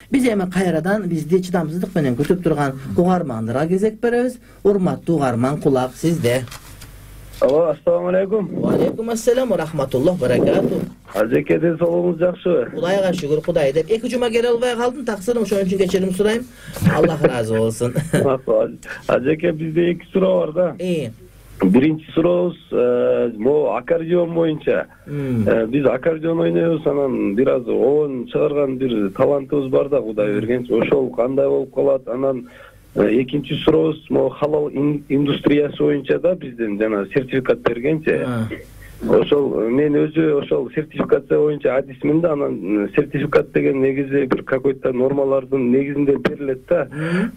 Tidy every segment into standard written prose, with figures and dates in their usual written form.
Биз эми кайрадан бизди чыдамсыздык менен күтүп турган угармандарга кезек беребиз. Урматтуу угарман, кулак сизде. Алло, ассаламу алейкум. Ва алейкум ассалам ва рахматуллах баракату. Ажеке, денсаулыгыңыз жакшыбы? Кудайга шүгүр, Кудай деп. 2 жума келе албай калдым, таксырым, ошон үчүн кечирим сурайм. Аллах ыраазы болсун. Ажеке, бизде 2 суроо бар да. Биринчи сурообуз могу аккордеон боюнча. Биз аккордеон ойнойбуз, анан бир аз оон чыгарган бир талантыбыз бар да, Кудай бергенчи. Ошол кандай болуп калат? Анан экинчи сурообуз могу халал индустриясы боюнча да бизден жана сертификат бергенчи. Ошол мен өзү ошол сертификация боюнча адисмин да, анан сертификат деген негизи бир какой-то нормалардын негизинде берилет да.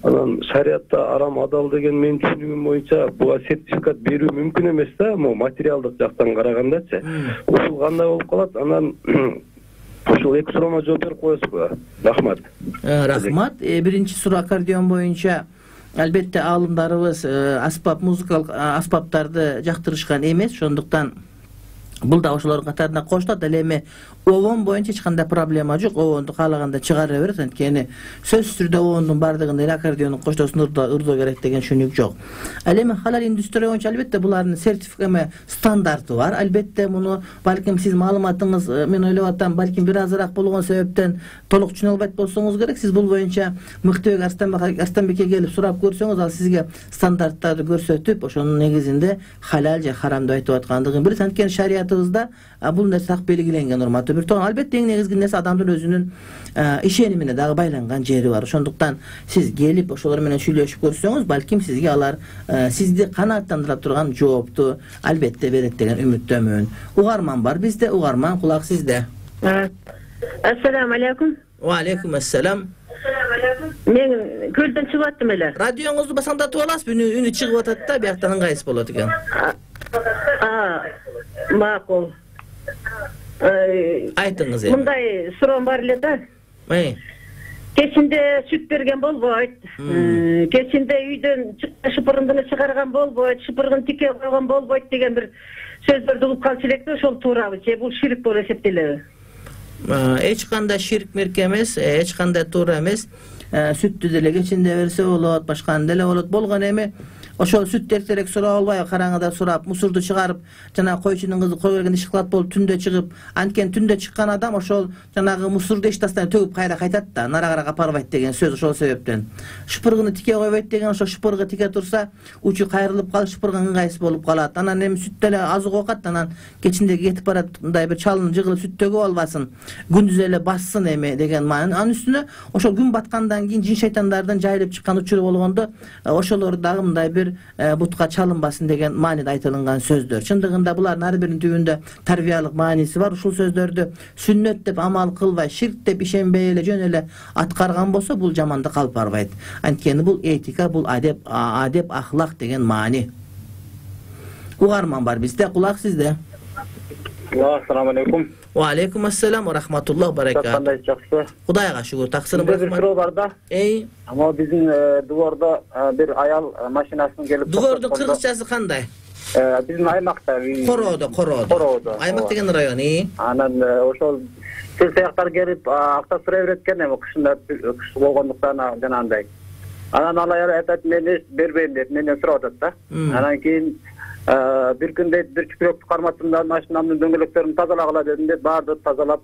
Анан шариатта арам адал деген менин түшүнүгүм боюнча буга сертификат берүү мүмкүн эмес да, могу материалдык жактан карагандачы. Ушул кандай болуп калат? Анан ушул 2 суроомо жооп берип коесузбу? Рахмат. Рахмат. Биринчи суроо аккордеон боюнча албетте аалымдарыбыз музыкалык аспаптарды жактырышкан эмес, ошондуктан бул да ошолордун катарына кошулат. Ал эми оон боюнча эч кандай проблема жок. Оонду каалаганда чыгара берет, анткени сөзсүз түрдө оондун бардыгында эле аккордеондун коштосун ырдоо керек деген түшүнүк жок. Ал эми халал индустрия боюнча албетте булардын сертификат стандарты бар. Албетте муну балким сиз маалыматыңыз, мен ойлоп атам, балким бир азыраак болгон себептен толук түшүнө албайт болсоңуз керек. Сиз бул боюнча Мыктыбек Арстанбекке келип сурап көрсөңүз, ал сизге стандарттарды көрсөтүп, ошонун негизинде халал же харам деп айтып аткандыгын билет. Анткени шариятыбызда бул нерсе так белгиленген, урматтуу бир тоон. Албетте эң негизги нерсе адамдын өзүнүн ишенимине дагы байланган жери бар. Ошондуктан сиз келип ошолор менен сүйлөшүп көрсөңүз, балким сизге алар сизди канааттандыра турган жоопту албетте берет деген үмүттөмүн. Угарман бар бизде, угарман, кулак сизде. Ассаламу алейкум. Ва алейкум ассалам. Мен көлдөн чыгып аттым эле. Радионуңузду басаңдатып аласызбы? Үнү чыгып атат да, бияктан ыңгайсыз болот экен. Макул. Айтыңыз эми. Мындай суроом бар эле да. Кечинде сүт берген болбойт. Кечинде үйдөн шыпырындыны чыгарган болбойт, шыпыргын тике койгон болбойт деген бир сөздөрдү угуп калчу элек да, ошол туурабы же бул ширк болуп эсептелеби? Эч кандай ширк мерк эмес, эч кандай туура эмес. Сүттү деле кечинде берсе болот, башканы деле болот. Болгон эми ошол сүт эртерээк сурап албайбы, караңгыда сурап, мусорду чыгарып, жана койчунун кызы кой бергенде ишкылат болуп түндө чыгып, анткени түндө чыккан адам ошол жанагы мусорду эч тастан төгүп кайра кайтат да, нарагыраак апарбайт деген сөз ошол себептен. Шыпыргыны тике койбойт деген, ошо шыпыргы тике турса, учу кайрылып калып, шыпыргы ыңгайсыз болуп калат. Анан эми сүт деле азык окат, анан кечинде кетип барат, мындай бир чалынып жыгылып сүт төгүп албасын, күндүз эле бассын эми деген маани. Анын үстүнө ошол күн баткандан кийин жин шайтандардын жайылып чыккан учуру болгондо, ошолор дагы мындай бир бутка чалынбасын деген мааниде айтылган сөздөр. Чындыгында булардын ар биринин түбүндө тарбиялык мааниси бар. Ушул сөздөрдү сүннөт деп амал кылбай, ширк деп ишенбей эле жөн эле аткарган болсо, бул жамандык алып барбайт. Анткени бул этика, бул адеп, ахлак деген маани. Угарман бар бизде, кулак сизде. Ассаламу алейкум. Ва алейкум ассалам ва рахматуллах баракату. Кандай жакшы? Кудайга шүгүр, таксырым бар. Бир суроо бар да. Ама биздин дувордо бир аял машинасын келип. Дувордун кыргызчасы кандай? Биздин аймакта. Короодо. Аймак деген район. Анан ошол сыяктар келип акча сурай берет экен, эми кыш болгондуктан жанагындай. Анан ал аял айтат, мен эч бербейм деп менден сурап атат да. Анан кийин bir күндө бир чүпүрөктү карматтым, машинамдын дөңгөлөктөрүн тазалагыла дедим деп, баарды тазалап,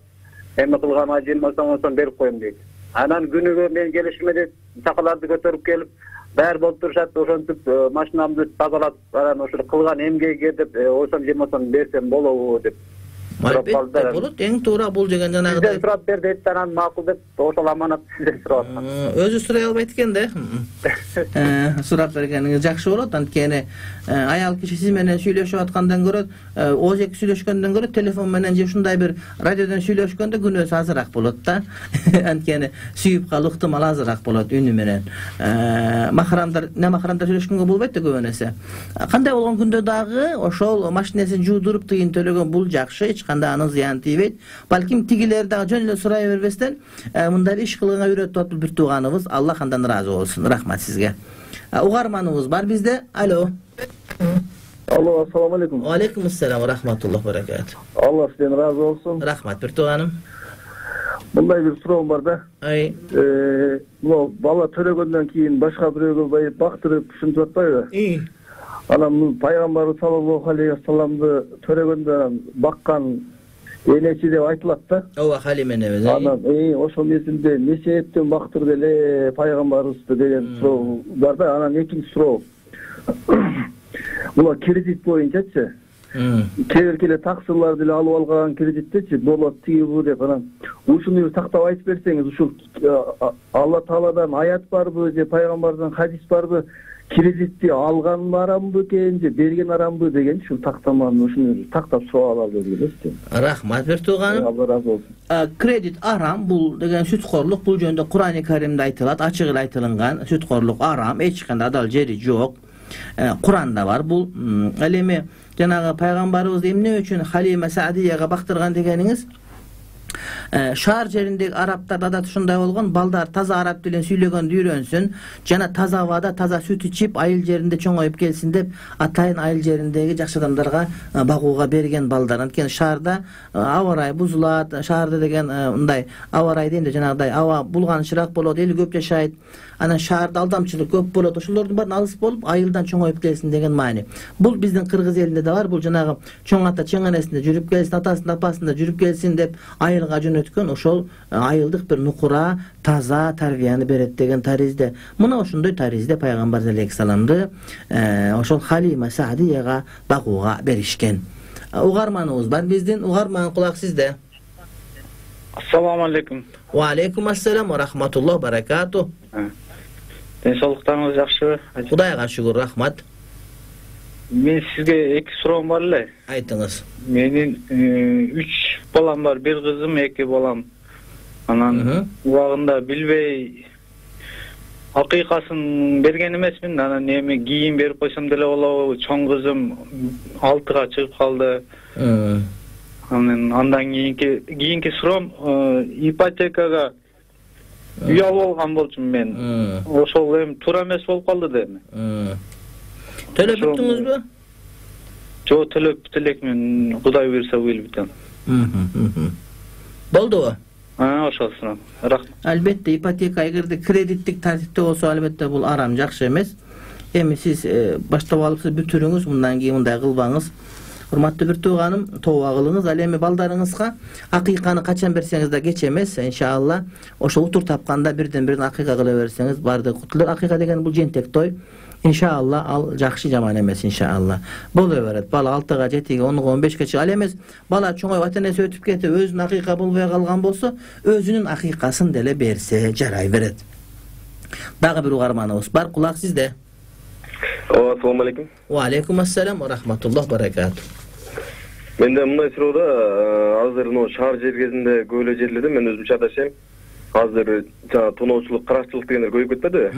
эми кылган ажым сом берип коем дейт. Анан күнүгө мен келишиме дейт, чакаларды көтөрүп келип, баары болуп турушат, ошентип машинамды тазалап, анан ошол кылган эмгеге деп, 10 сом берсем болобу деп. Албетте болот, эң туура бул деген жанагыдай. Сизден сурап бер дейт, анан макул деп, ошол аманат сизден сурап атам. Өзү сурай албайт экен да. Сурап бергениңиз жакшы болот, анткени аял киши сиз менен сүйлөшүп аткандан көрө, ооз-эки сүйлөшкөндөн көрө телефон менен же ушундай бир радиодон сүйлөшкөндө күнөөсү азыраак болот да. Анткени сүйүп калуу ыктымал азыраак болот үнү менен. Махрамдар сүйлөшкөнгө болбойт да көп нерсе. Кандай болгон күндө дагы ошол машинесин жуудуруп тыйын төлөгөн бул жакшы, эч кандай анын зыяны тийбейт. Балким тигилер дагы жөн эле сурай бербестен мындай иш кылганга үйрөтүп атып бир тууганыбыз. Аллах андан ыраазы болсун. Рахмат сизге. Угарманыбыз бар бизде. Алло. Алло, ассаламу алейкум. Ва алейкум ассалам ва рахматуллах ва баракату. Алла сизден ыраазы болсун. Рахмат бир тууганым. Мындай бир суроом бар да. Бул бала төрөгөндөн кийин башка бирөөгө бактырып ушинтип атпайбы? Анан пайгамбарыбыз саллаллаху алейхи вассаламды төрөгөндө баккан энечи деп айтылат да. Ооба, Халиме небез. Анан ошол мезгилде эмне себептен бактырды эле пайгамбарыбызды деген суроо бар да. Анан экинчи суроо. Була кредит боюнчачы. Кээ бир таксырларды эле алып алган кредиттечи болот тиги бу деп анан ушуну тактап айтып берсеңиз, ушул Алла Тааладан аят барбы же пайгамбардан хадис барбы? Кредитти алган арамбы экен же берген арамбы деген ушул тактаманы ушуну тактап сурап алалы деп элестим. Рахмат бир тууганым. Алла разы болсун. Кредит арам бул деген сүткорлук, бул жөнүндө Кур'ан-ы Каримде айтылат, ачык эле айтылган. Сүткорлук арам, эч кандай адал жери жок. Кур'анда бар бул. Ал эми жанагы пайгамбарыбыз эмне үчүн Халима Саадияга бактырган дегениңиз? Шаар жериндеги арабтар адат ушундай болгон, балдар таза араб тилин сүйлөгөндү үйрөнсүн, жана таза абада таза сүт ичип, айыл жеринде чоңоюп келсин деп атайын айыл жериндеги жакшы адамдарга багууга берген балдар. Анткени шаарда аба ырайы бузулат, шаарда деген мындай аба ырайы дейм да, жанагыдай аба булганычыраак болот, эл көп жашайт. Анан шаарда алдамчылык көп болот. Ошолордун баарын алыс болуп, айылдан чоңоюп келсин деген маани. Бул биздин кыргыз элинде да бар. Бул жанагы чоң ата чеңенесинде жүрүп келсин, атасында апасында жүрүп келсин деп айылга жөнөткөн ошол айылдык бир нукура, таза тарбияны берет деген таризде. Мына ошондой таризде пайгамбар алейхиссаламды ошол Халима Саадияга багууга беришкен. Угарманыбыз бар биздин. Угарман, кулак сизде. Ассаламу алейкум. Ва алейкум ассалам ва рахматуллах баракату. Денсаулыктарыңыз жакшыбы? Кудайга шүгүр, рахмат. Мен сизге эки суроом бар эле. Айтыңыз. Менин 3 балам бар, бир кызым, 2 балам. Анан убагында билбей акыйкасын берген эмесмин. Анан эми кийин берип койсом деле болобу? Чоң кызым 6-га чыгып калды. Андан кийинки суроом, ипотекага үй алып алган болчумун мен. Ошол эми туура эмес болуп калды да эми. Төлөп бүттүңүзбү? Жок, төлөп бүт элекмин. Кудай буйруса быйыл бүтөм. Болдубу? Ошол суроом. Рахмат. Албетте ипотека эгерде кредиттик тартипте болсо, албетте бул арам, жакшы эмес. Эми сиз баштап алыпсыз, бүтүрүңүз, мындан кийин мындай кылбаңыз. Урматтуу бир тууганым, тооба кылыңыз. Ал эми балдарыңызга акыйканы качан берсеңиз да кеч эмес, иншалла. Ошо утур тапканда бирден-бирин акыйка кыла берсеңиз бардыгы кутулат. Акыйка деген бул жентек той. Иншалла ал жакшы жаман эмес, иншалла. Боло берет. Бала 6-га, 7-ге, 10-га, 15-ге чыга. Ал эмес бала чоңоюп ата-энеси өтүп кетип, өзүнүн акыйка болбой калган болсо, өзүнүн акыйкасын деле берсе жарай берет. Дагы бир угарманыбыз бар, кулак сизде. Ассаламу алейкум. Ва алейкум ассалам ва рахматуллах баракату. Менде мындай суроо да, азыр шаар жер кезинде көп эле жерлерде мен өзүм чат жашайм. Азыр тоноочулук, каракчылык дегендер көбөйүп кетпеди.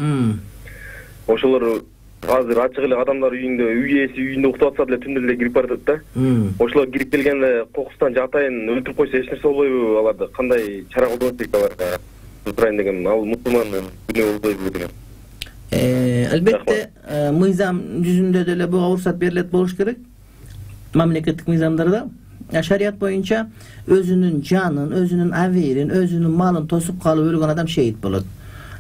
Ошолор азыр ачык эле адамдар үйүндө, үй ээси үйүндө уктап атса деле түндө эле кирип баратат да. Ошолор кирип келгенде кокустан же атайын өлтүрүп койсо эч нерсе болбойбу аларды? Кандай чара колдонот дейт аларга? Сурайын дегем, ал мусулман күнөө болбойбу деген. Албетте мыйзам жүзүндө деле буга уруксат берилет болуш керек. Мамлекеттик мыйзамдарда шарият боюнча өзүнүн жанын, өзүнүн абийирин, өзүнүн малын тосуп калып өлгөн адам шейит болот.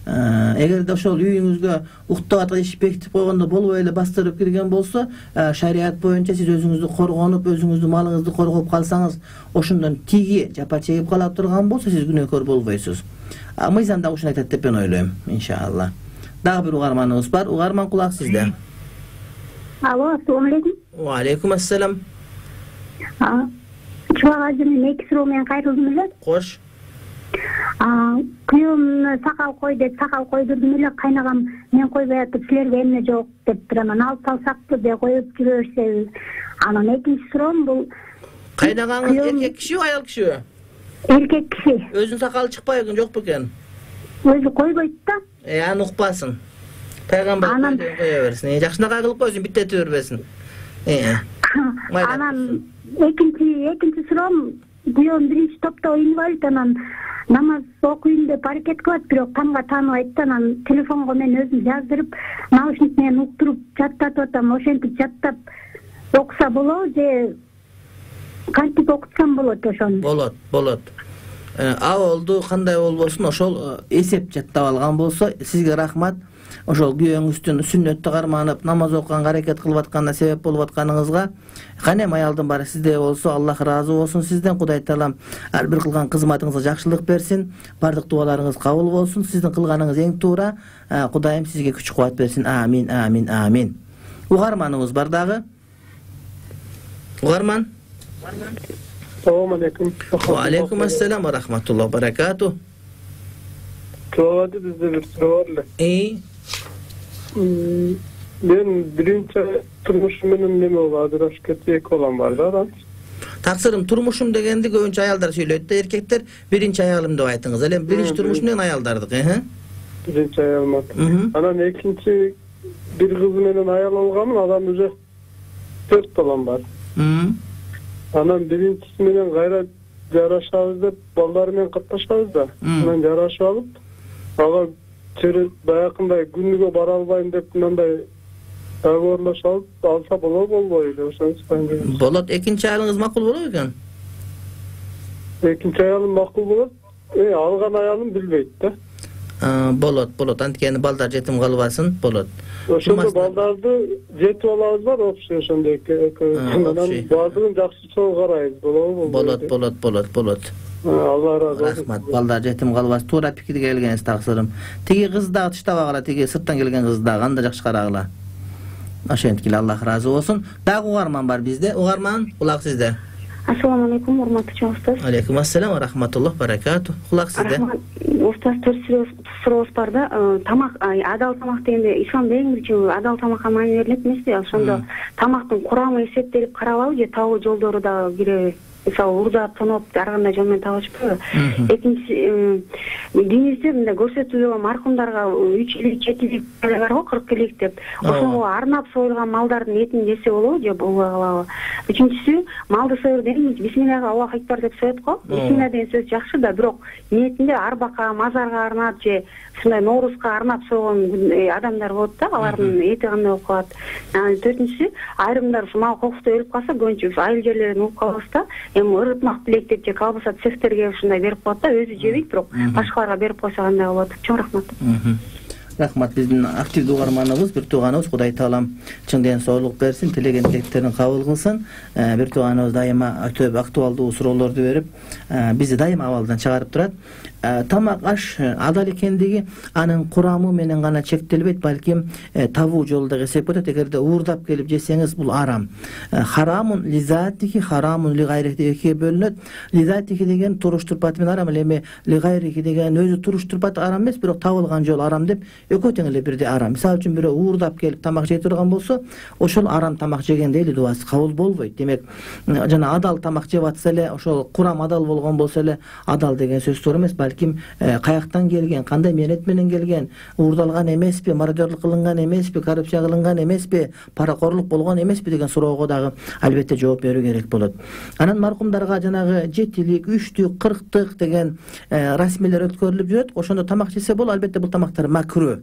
Эгерде ошол үйүңүзгө уктап аткан иш бекитип койгондо болбой эле бастырып кирген болсо, шарият боюнча сиз өзүңүздү коргонуп, өзүңүздүн малыңызды коргоп калсаңыз, ошондон тиги жапа чегип кала турган болсо, сиз күнөөкөр болбойсуз. Мыйзамда ушуну айтат деп мен ойлойм, иншалла. Дагы бир угарманыбыз бар. Угарман, кулак сизде. Алло, ассаламу алейкум. Ва алейкум ассалам. Чубак ажы, мен эки суроо менен кайрылдым эле. Кош. Күйөөмүн сакал кой деп сакал койдурдум эле, кайнагам мен койбой атып силерге эмне жок дептир. Анан алып салсакпы деп коюп жүрө берсеби. Анан экинчи суроом бул кайнагаңыз эркек кишиби, аял кишиби? Эркек киши. Өзүнүн сакалы чыкпайбы экен, жокпу экен? Өзү койбойт да. Аны укпасын. Пайгамбар кое берсин. Жакшынакай кылып койсун, биттете бербесин. Анан экинчи суроом, күйөөм биринчи топто инвалид, анан намаз окуйм деп аракет кылат, бирок тамга тааныбайт да. Анан телефонго мен өзүм жаздырып, наушник менен уктуруп жаттатып атам. Ошентип жаттап окуса болобу же кантип окутсам болот ошону? Болот. Абалду кандай болбосун, ошол эсеп жаттап алган болсо сизге рахмат. Ошол күйөөңүздүн сүннөттү карманып, намаз окуганга аракет кылып атканына себеп болуп атканыңызга канем аялдын баары сизде болсо, Аллах ыраазы болсун сизден. Кудай таалам ар бир кылган кызматыңызга жакшылык берсин, бардык дуаларыңыз кабыл болсун. Сиздин кылганыңыз эң туура. Кудайым сизге күч кубат берсин. Амин, амин, амин. Угарманыңыз бар дагы? Угарман? Салам алейкум. Ва алейкум ассалам ва рахматуллахи ва баракату. Туады бизде бир суроо бар эле. Мен биринчи турмушум менен неме болуп ажырашып кетти, эки балам бар да. Таксырым, турмушум дегенди көбүнчө аялдар сүйлөйт да, эркектер биринчи аялым деп айтыңыз. Эле биринчи турмушум деген аялдардык, Биринчи аялым. Анан экинчи бир кыз менен аял алганмын, анан уже 4 балам бар. Анан биринчиси менен кайра жарашабыз деп балдар менен катташабыз да. Анан жарашып алып, ага баягындай күнүгө бара албайм деп мындай договорлошуп алса болобойбу? Ошону болот. Экинчи аялыңыз макул болобу экен? Экинчи аялым макул болот. Алган аялым билбейт да. Болот. Анткени балдар жетим калбасын, болот. Ошондо балдарды жетип алабыз бар, окшой ошондой экөөбүз. Баардыгын жакшысоо карайбыз, болобу? Болот. Алла разы болсун. Рахмат. Балдар жетим калбас. Туура пикирге келгениз таксырым. Тиги кыз дагы тыштабагыла, тиги сырттан келген кыз дагы анда жакшы карагыла. Ошентип Аллах разы болсун. Дагы угарман бар бизде. Угарман, кулак сизде. Ассаламу алейкум, урматтуу устаз. Алейкум ассалам ва рахматуллах баракату. Кулак сизде. Устаз, сурообуз бар да. Тамак, адал тамак дегенде исламда эң биринчи адал тамакка маани берилет эмеспи? Ошондо тамактын курамы эсептелип каралабы же табуу жолдору дагы киреби? Мисалы урдап, тоноп, ар кандай жол менен табышпайбы? Экинчи, динибизде мындай көрсөтүүлөр маркумдарга 3 илик, 7 илик бар го, 40 илик деп. Ошого арнап союлган малдардын этин жесе болобу же болбой калабы? Үчүнчүсү, малды союр дегенде бисмиллахи Аллаху акбар деп соет го. Бисмилла деген сөз жакшы да, бирок ниетинде арбакка, мазарга арнап же ушундай Ноорузга арнап сойгон адамдар болот да, алардын эти кандай болуп калат. Төртүнчүсү, айрымдар ушу мал кокусто өлүп калса, көбүнчө айыл жерлерден угуп калабыз да. Ырытмак билек деп же колбаса цехтерге ушундай берип коет да, өзү жебейт, бирок башкаларга берип койсо кандай болот? Чоң рахмат. Рахмат, биздин активдүү угарманыбыз, бир тууганыбыз, Кудай таалам чың ден соолук берсин, тилеген тилектерин кабыл кылсын. Бир тууганыбыз дайыма өтө актуалдуу суроолорду берип, бизди дайыма абалдан чыгарып турат. Тамак аш адал экендиги анын курамы менен гана чектелбейт, балким табуу жолу да эсеп өтөт. Эгерде уурдап келип жесеңиз, бул арам. Харамун лизатихи, харамун лигайрихи деп экиге бөлүнөт. Лизатихи деген туруштурпаты менен арам, эми лигайрихи деген өзү туруштурпаты арам эмес, бирок табылган жол арам деп экөө тең эле бирдей арам. Мисалы үчүн бирөө уурдап келип тамак жей турган болсо, ошол арам тамак жегенде эле дуасы кабыл болбойт. Демек, жана адал тамак жеп атса эле, ошол курам адал болгон болсо эле, адал деген сөз туура эмес, балким каяктан келген, кандай мээнет менен келген, уурдалган эмеспи, мародёрлук кылынган эмеспи, коррупция кылынган эмеспи, паракорлук болгон эмеспи деген суроого дагы албетте жооп берүү керек болот. Анан маркумдарга жанагы 7-лик, 3-түк, 40-тык деген расмийлер өткөрүлүп жүрөт. Ошондо тамак жесе болот, албетте бул тамактар макруу.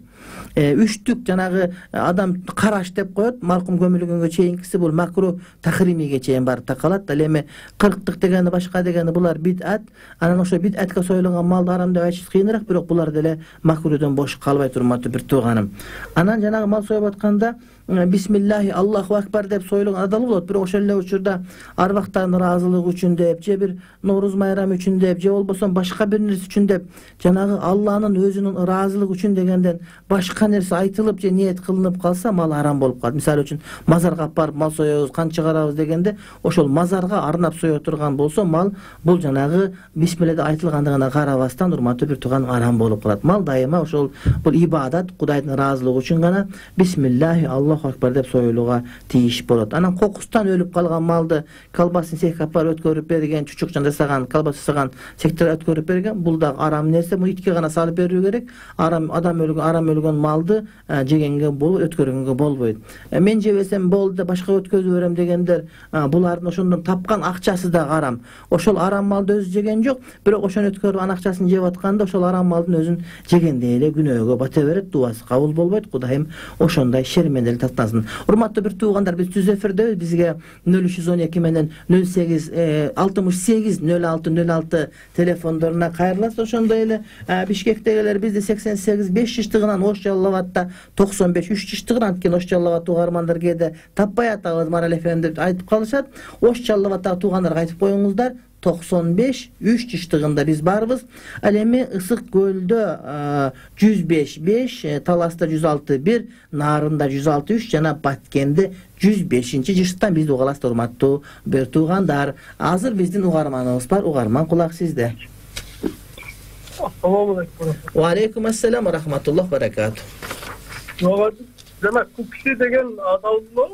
3-түк жанагы адам караш деп коет, маркум көмүлгөнгө чейинкиси бул макруу тахримиге чейин барып такалат. Ал эми 40-тык дегени башка дегени булар бидат. Анан ошо бидатка союлган малды арам деп айтыш кыйыныраак, бирок булар деле макруудон бош калбай турматы бир тууганым. Анан жанагы мал союп атканда бисмиллахи Аллаху акбар деп сойлогон адал болот. Бирок ошол эле учурда арбактардын ыраазылыгы үчүн деп, же бир Нооруз майрамы үчүн деп, же болбосо башка бир нерсе үчүн деп, жанагы Алланын өзүнүн ыраазылыгы үчүн дегенден башка нерсе айтылып же ниет кылынып калса, мал арам болуп калат. Мисалы үчүн мазарга барып мал соебуз, кан чыгарабыз дегенде, ошол мазарга арнап сое турган болсо, мал бул жанагы бисмиллахда айтылгандыгына карабастан, урматтуу бир тууган, арам болуп калат. Мал дайыма ошол бул ибадат, Кудайдын ыраазылыгы үчүн гана бисмиллахи Аллаху акбар деп союлууга тийиш болот. Анан кокустан өлүп калган малды колбасын сехке апарып өткөрүп берген, чучукчан жасаган, колбаса жасаган сектор өткөрүп берген, бул да арам нерсе. Муну итке гана салып берүү керек. Арам өлгөн малды жегенге болбойт, өткөргөнгө болбойт. Мен жебесем болду да башка өткөзүп берем дегендер, булардын ошондон тапкан акчасы да арам. Ошол арам малды өзү жеген жок, бирок ошону өткөрүп анын акчасын жеп атканда, ошол арам малдын өзүн жегендей эле күнөөгө бата берет, дуасы кабыл болбойт. Кудайым ошондой шерменден тактасын. Урматтуу бир туугандар, биз түз эфирдебиз. Бизге 0312 менен 08 68 06 телефондоруна кайрыласыз. Ошондой эле Бишкектегилер бизди 88 5 жыштыгынан, Ош Жалал Абадта 95 3 жыштыгынан, анткени Ош Жалал Абад угармандар кээде таппай атабыз Марал ФМ деп айтып калышат. Ош Жалал Абадтагы туугандарга айтып коюңуздар, 95 3 жыштыгында биз барбыз. Ал эми Ысык көлдө 105 Таласта 106 Нарында 106 жана Баткенде 105 жыштан бизди угаласыздар, урматтуу бир туугандар. Азыр биздин угарманыбыз бар. Угарман, кулак сизде. Ассаламу алейкум. Ва алейкум ассалам ва рахматуллах ва баракату. Жана кукси деген адалбы.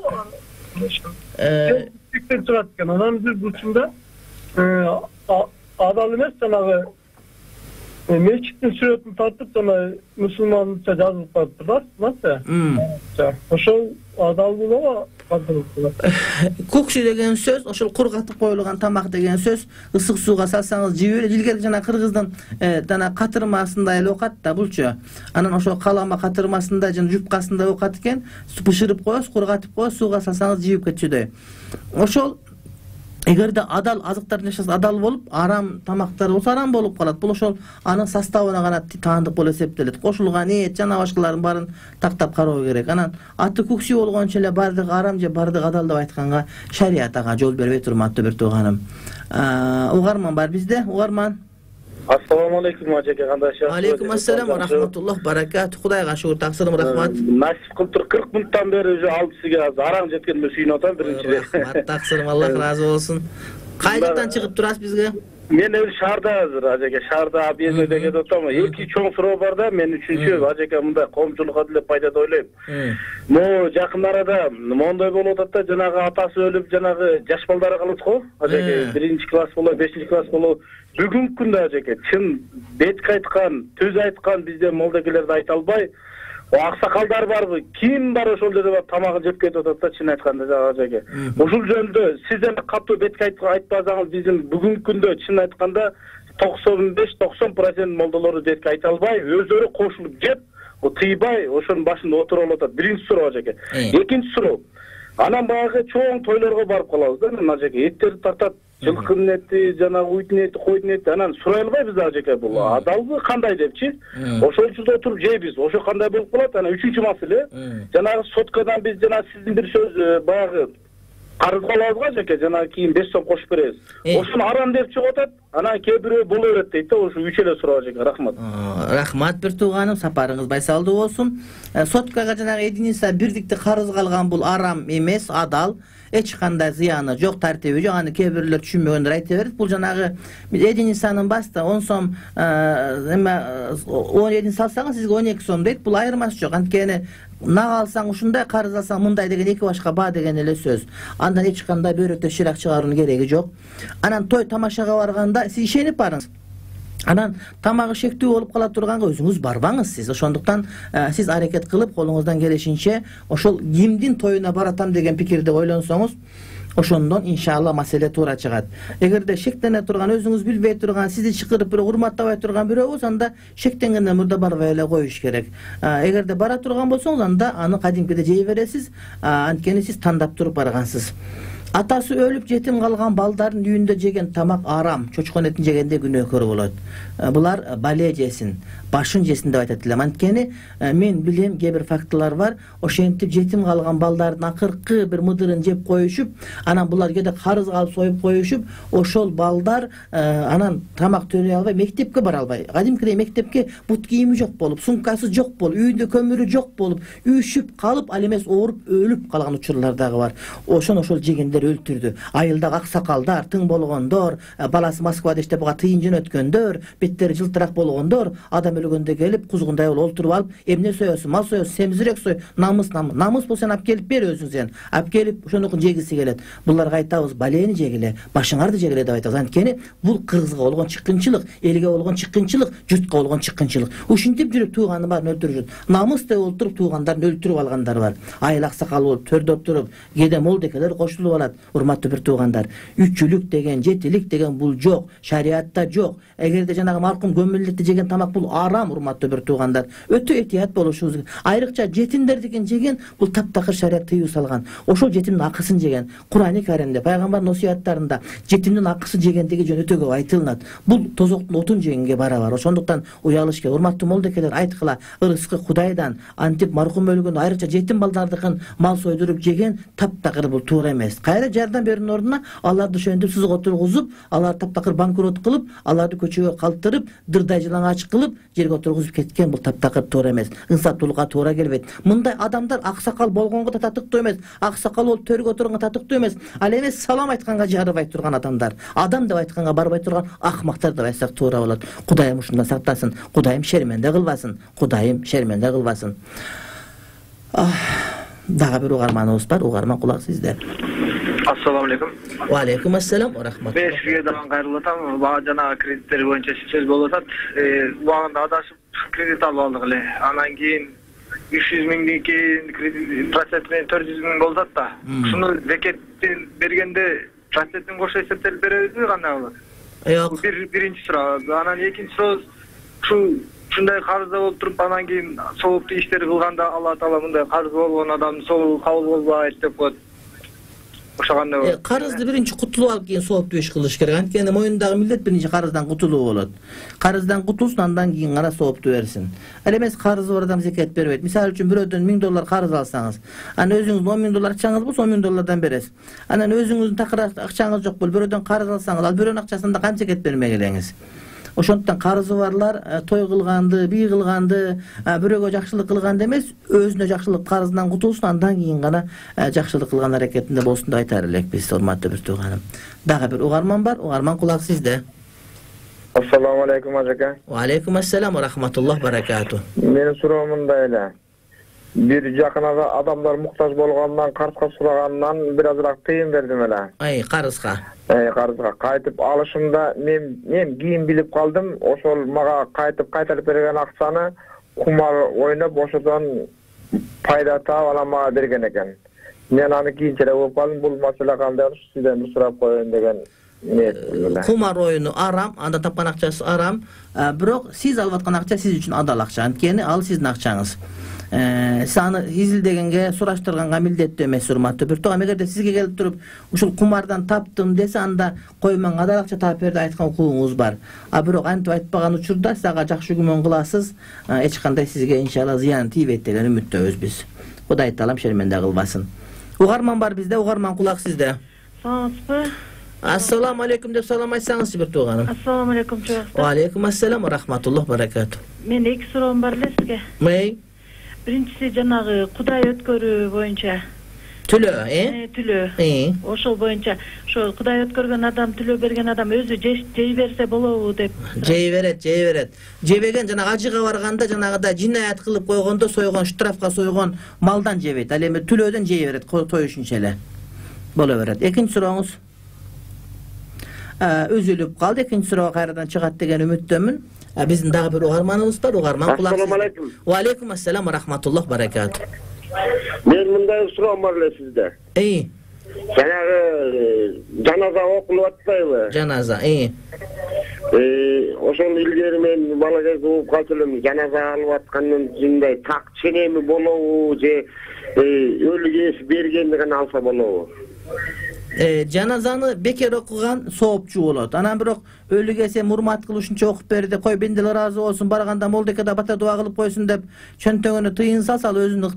Тиктен чыгат экен. Анан бир бурчунда адал эмес, жанагы мечиттин сүрөтүн тартып жана мусулманча жазылып калыптыр да. Ошол адал болобу? Кукши деген сөз, ошол кургатып коюлган тамак деген сөз, ысык сууга салсаңыз жей берет. Илгери жана кыргыздын жана катырмасында эле окат да булчу. Анан ошол калама катырмасында жана жупкасында окат экен. Бышырып коесуз, кургатып коесуз, сууга салсаңыз жийип кетчүдөй. Ошол эгерде адал азыктар жашаса адал болуп, арам тамактар болсо арам болуп калат. Бул ошол анын составына гана таандык болуп эсептелет. Кошулган эт жана башкаларын баарын тактап кароо керек. Анан аты кукси болгончо эле бардыгы арам же бардыгы адал деп айтканга шарият ага жол бербейт, урматтуу бир тууганым. Угарман бар бизде, угарман. Ассаламу алейкум ажеке, кандайсыз? Алейкум ассалам ва рахматуллах баракату. Кудайга шүгүр, таксырым, рахмат. Насип кылып тур, 40 мүнөттөн бери уже алып сизге араң жеткениме сүйүнүп атам биринчиден. Рахмат, таксырым, Аллах разы болсун. Кай жактан чыгып турасыз бизге? Мен өзү шаарда азыр ажеке, шаарда абиеде кетип атам. Эки чоң суроо бар да, мен үчүнчү ажеке мындай коомчулукка деле пайда деп ойлойм. Могу жакын арада моундай болуп атат да, жанагы атасы өлүп, жанагы жаш балдары калат го, ажеке 1-класс болобу, 5-класс болобу. Бүгүнкү күндө ажеке чын бетке айткан, төз айткан бизде молдокелерди айта албай, аксакалдар барбы, ким бар ошол жерде бар тамагын жеп кетип атат да, чын айтканда ажеке. Ушул жөнүндө сиз эми катуу бетке айтпасаңыз, биздин бүгүнкү күндө чын айтканда 95-90% молдолору бетке айта албай, өздөрү кошулуп жеп, тыйбай ошонун башында отуруп атат. Биринчи суроо ажеке. Экинчи суроо. Анан баягы чоң тойлорго барып калабыз да, мен ажеке эттерди тартат. Жылкынын эти, жанагы уйдун эти, койдун эти, анан сурай албайбыз ажеке, бул адалбы кандай депчи. Ошол учурда отуруп жейбиз. Ошо кандай болуп калат? Анан үчүнчү маселе, жанагы соткадан биз жана сиздин бир сөз баягы карызга алабызга ажеке, жанагы кийин 5 сом кошуп беребиз. Ошону арам деп чыгып атат. Анан кээ бирөө боло берет дейт да, ошо үч эле суроо ажеке. Рахмат. Рахмат бир тууганым, сапарыңыз байсалдуу болсун. Соткага жанагы единица бирдикти карызга алган бул арам эмес, адал. Эч кандай зыяны жок, тартиби жок. Аны кээ бирлер түшүнбөгөндөр айта берет. Бул жанагы единицанын басты 10 сом, эме 17 салсаңыз сизге 12 сом дейт. Бул айырмасы жок. Анткени нак алсаң ушундай, карыз алсаң мындай деген эки башка баа деген эле сөз. Андан эч кандай бөйрөктө ширак чыгаруунун кереги жок. Анан той тамашага барганда сиз ишенип барыңыз. Анан тамагы шектүү болуп кала турганга өзүңүз барбаңыз сиз. Ошондуктан сиз аракет кылып колуңуздан келишинче ошол кимдин тоюна баратам деген пикирде ойлонсоңуз, ошондон иншалла маселе туура чыгат. Эгерде шектене турган, өзүңүз билбей турган, сизди чакырып бирөө урматтабай турган бирөө болсо, анда шектенгенден мурда барбай эле коюш керек. Эгерде бара турган болсоңуз, анда аны кадимкиде жей бересиз, анткени сиз тандап туруп баргансыз. Атасы өлүп жетим калган балдардын үйүндө жеген тамак арам, чочкон этин жегенде күнөөкөр болот. Булар бале жесин, башын жесин деп айтат элем. Анткени мен билем кээ бир фактылар бар. Ошентип жетим калган балдардын акыркы бир мыдырын жеп коюшуп, анан булар кээде карыз калып союп коюшуп, ошол балдар анан тамак төлөй албай, мектепке бара албай. Кадимкидей мектепке бут кийими жок болуп, сумкасы жок болуп, үйүндө көмүрү жок болуп, үйшүп калып, ал эмес ооруп, өлүп калган учурлар дагы бар. Ошол жегендер өлтүрдү. Айылдагы аксакалдар, тың болгондор, баласы Москвада иштеп буга тыйын жөнөткөндөр, беттери жылтырак болгондор, адам өлгөндө келип, кузгундай болуп олтуруп алып, эмне соёсуң, мал соёсуң, семизирээк сой, намыс болсо сен алып келип бер өзүң сен. Алып келип ошонуку жегиси келет. Буларга айтабыз, балени жегиле, башыңарды жегиле деп айтабыз. Анткени бул кыргызга болгон чыккынчылык, элге болгон чыккынчылык, журтка болгон чыккынчылык. Ушинтип жүрүп тууганы баарын өлтүрүшөт. Намыс деп олтуруп туугандарын өлтүрүп алгандар бар. Айыл аксакал болуп төрдө отуруп, кээде молдекелер кошулуп алат. Урматтуу бир туугандар, үчүлүк деген, жетилик деген бул жок, шариатта жок. Эгерде жанагы маркум көмүлдүктү жеген тамак бул арам, урматтуу бир туугандар. Өтө этият болушубуз керек. Айрыкча жетимдердикин жеген бул таптакыр шариат тыюу салган. Ошол жетимдин акысын жеген. Кур'ани Каримде, пайгамбардын осуяттарында жетимдин акысын жегендиги жөнүндө өтө көп айтылат. Бул тозоктун отун жегенге барабар. Ошондуктан уялыш керек. Урматтуу молдекелер, айткыла, ырыскы Кудайдан, антип маркум өлгөн айрыкча жетим балдардыкын мал сойдуруп жеген таптакыр бул туура эмес. Кайра жардам берүүнүн ордуна аларды ошентип сызык отургузуп, алар таптакыр банкрот кылып, аларды көчөгө калтырып, дырдай жылаңач кылып, жерге отургузуп кеткен бул таптакыр туура эмес. Инсаптуулукка туура келбейт. Мындай адамдар аксакал болгонго да татыктуу эмес, аксакал болуп төргө отурганга татыктуу эмес. Ал эмес салам айтканга жарыбай турган адамдар, адам деп айтканга барбай турган акмактар деп айтсак туура болот. Кудайым ушундан сактасын, Кудайым шерменде кылбасын, Кудайым шерменде кылбасын. Дагы бир угарманыбыз бар, угарман кулак сизде. Ассаламу алейкум. Ва алейкум ассалам ва рахматуллах. Мен сизге дагы кайрылып атам. Бага жана кредиттер боюнча сөз болуп атат. Убагында адашып кредит алып алдык эле. Анан кийин 300 миңдики кредит процент менен 400 миң болуп атат да. Ушуну зекеттен бергенде процентин кошо эсептелип беребизби, кандай болот? Жок. Биринчи суроо. Анан экинчи суроо, ушундай карызда болуп туруп, анан кийин сооптуу иштер кылганда Алла Таала мындай карыз болгон адамдын сообу кабыл болбойт деп коет. Карызды биринчи кутулуп алып кийин сооптуу иш кылыш керек. Анткени моюндагы милдет биринчи карыздан кутулуу болот. Карыздан кутулсун, андан кийин гана сооптуу берсин. Ал эмес карызы бар адам зекет бербейт. Мисалы үчүн бирөөдөн $1000 карыз алсаңыз, анан өзүңүздүн $10,000 акчаңыз болсо $10,000 бересиз. Анан өзүңүздүн такыр акчаңыз жок болуп бирөөдөн карыз алсаңыз, ал бирөөнүн акчасында кантип зекет бермей келеңиз? Ошондуктан карызы барлар той кылганды, бий кылганды, бирөөгө жакшылык кылганды эмес, өзүнө жакшылык карыздан кутулсун, андан кийин гана жакшылык кылган аракетинде болсун деп айтар элекпиз, урматтуу бир тууганым. Дагы бир угарман бар, угарман кулак сизде. Ассаламу алейкум ажака. Ва алейкум ассалам ва рахматуллах баракату. Менин суроом мындай эле. Бир жакын адамдар муктаж болгондон карызга сурагандан бир азыраак тыйын бердим эле. Карызга. Карызга кайтып алышымда мен кийин билип калдым, ошол мага кайтарып берген акчаны кумар ойноп ошодон пайда таап анан мага берген экен. Мен аны кийинчерээк болуп калдым, бул маселе кандай болуш, сизден бир сурап коеюн деген ниет. Кумар оюну арам, анда тапкан акчасы арам, бирок сиз алып аткан акча сиз үчүн адал акча, анткени ал сиздин акчаңыз. Сиз аны изилдегенге, сураштырганга милдеттүү эмес, урматтуу бир тууган. Эгерде сизге келип туруп ушул кумардан таптым десе, анда кой мен адал акча таап берди айткан укугуңуз бар. Бирок антип айтпаган учурда сиз ага жакшы күмөн кыласыз, эч кандай сизге иншалла зыян тийбейт деген үмүттөбүз биз. Кудай таалам шерменде кылбасын. Угарман бар бизде, угарман кулак сизде. Саламатсызбы? Ассаламу алейкум деп салам айтсаңызчы бир тууганым. Ассаламу алейкум чоң. Ва алейкум ассалам ва рахматуллах баракату. Мен эки суроом бар эле сизге. Биринчиси жанагы Кудай өткөрүү боюнча. Түлөө, Түлөө. Ошол боюнча, ошо Кудай өткөргөн адам, түлөө берген адам өзү жей берсе болобу деп. Жей берет. Жебеген жанагы ажыга барганда, жанагыда жинаят кылып койгондо сойгон, штрафка сойгон малдан жебейт. Ал эми түлөөдөн жей берет, тоюшунча эле. Боло берет. Экинчи сурооңуз. Үзүлүп калды. Экинчи суроо кайрадан чыгат деген үмүттөмүн. Биздин дагы бир угарманыбыз бар, угарман кулак. Ассаламу алейкум. Ва алейкум ассалам ва рахматуллах баракату. Мен мындай суроом бар эле сизде. Жанагы жаназа окулуп атпайбы? Жаназа, ошол илгери мен бала кезде угуп калчу элем, жаназа алып аткандан мындай так ченеми болобу же өлүгө бергендигин алса болобу? Жаназаны бекер окуган соопчу болот. Анан бирок өлү келсе урмат кылышынча окуп берди, кой бенделер ыраазы болсун, барганда молдеке да бата дуа кылып койсун деп чөнтөгүнө тыйын салса, ал өзүнүн